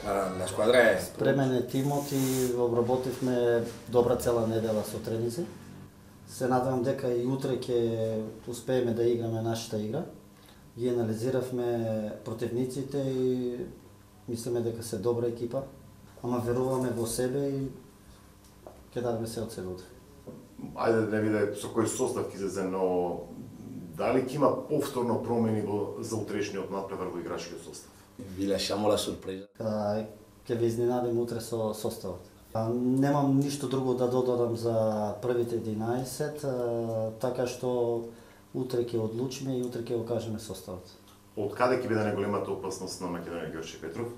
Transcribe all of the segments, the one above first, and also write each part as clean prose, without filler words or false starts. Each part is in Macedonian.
La squadra è... Спремен е тимот и обработивме добра цела недела со тренинзи. Се надевам дека и утре ќе успееме да играме нашата игра. Ги анализиравме противниците и мислиме дека се добра екипа, ама веруваме во себе и ќе дадеме се од себе утре. Ајде да не виде со кој состав ќе излезе, но дали ќе има повторно промени за утрешниот натпревар во играчкиот состав? Vi lasciamo la sorpresa. Ќе ви изненадим утре со составот. Немам ништо друго да додадам за првите 11, така што утре ќе одлучиме и утре ќе го кажеме составот. Од каде ќе биде најголемата опасност на Македонија Ѓорче Петров?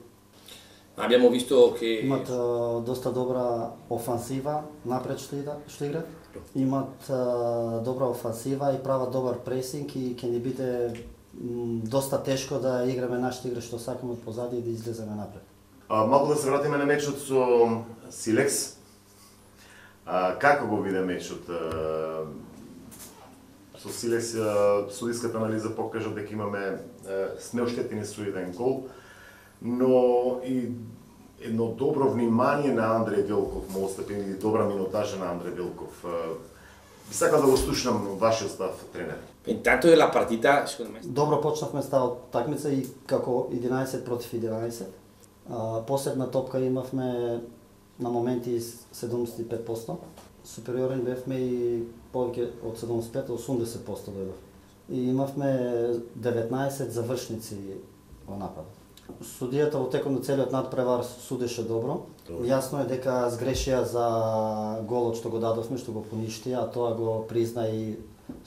Abbiamo visto che... Имат доста добра офансива, напред што играат. Имат добра офансива и прават добар пресинг и ќе ни биде доста тешко да играме нашата игра што сакаме од позади и да излеземе напред. Малку да се вратиме на мечот со Силекс. Како го виде мечот? Со Силекс судиската анализа покажа дека имаме неоштетени со еден гол, но и едно добро внимание на Андреј Велков му отстапи, или добра минутажа на Андреј Велков. Би сакал да го слушнам вашиот став, тренер. Intanto della partita, secondo me... Добро почнавме ставот такмица и како 11 против 11. Последна топка имавме на моменти 75%. Супериорен бевме и повеќе од 75 до 80% дојдов. И имавме 19 завршници во напад. Судијата во текот на целиот надпревар судеше добро. Јасно е дека сгрешија за голот што го дадовме, што го поништија, а тоа го призна и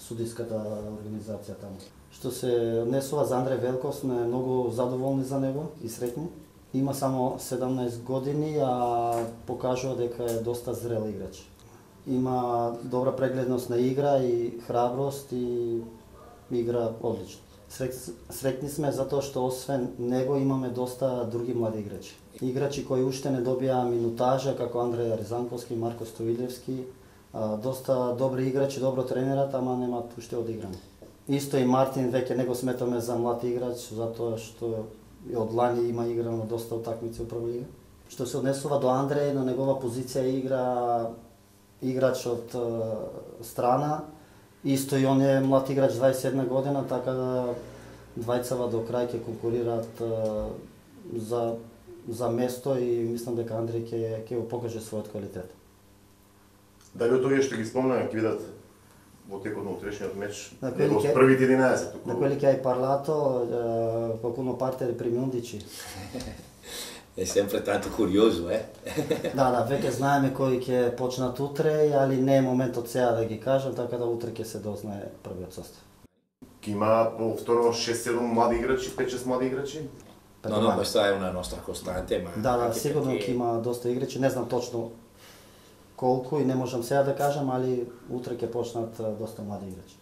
судиската организација таму. Што се однесува за Андреј Велков, сме многу задоволни за него и среќни. Има само 17 години, а покажува дека е доста зрел играч. Има добра прегледност на игра и храброст и игра одлично. Среќни сме затоа што освен него имаме доста други млади играчи. Играчи кои уште не добија минутажа, како Андреј Ризанковски, Марко Стоилевски, доста добри играчи, добро тренерат, ама немаат уште одиграни. Исто и Мартин, веќе не го сметаме за млад играч, затоа што и од лани има играно доста утакмици во прва лига. Што се однесува до Андреј, на негова позиција игра играч од страна. Исто и он е млад играч 21 година, така да двајцава до крај ќе конкурираат за место и мислам дека Андреј ќе го покаже својот квалитет. Дали од овие што ги спомнаа ќе видат во текот на утрешниот меч него од првите 11? На quelli che hai parlato, qualcuno parte dai primi 11? È sempre tanto curioso, eh? Да, веќе знаеме кои ќе почнат утре, али не е моментот сега да ги кажам, така да утре ќе се дознае првиот состав. Ќе има повторно 6-7 млади играчи, 5-6 млади играчи? No, questa è una nostra costante, ma... Да, сигурно ќе има доста играчи, не знам точно колку и не можам сега да кажам, али утре ќе почнат доста млади играчи.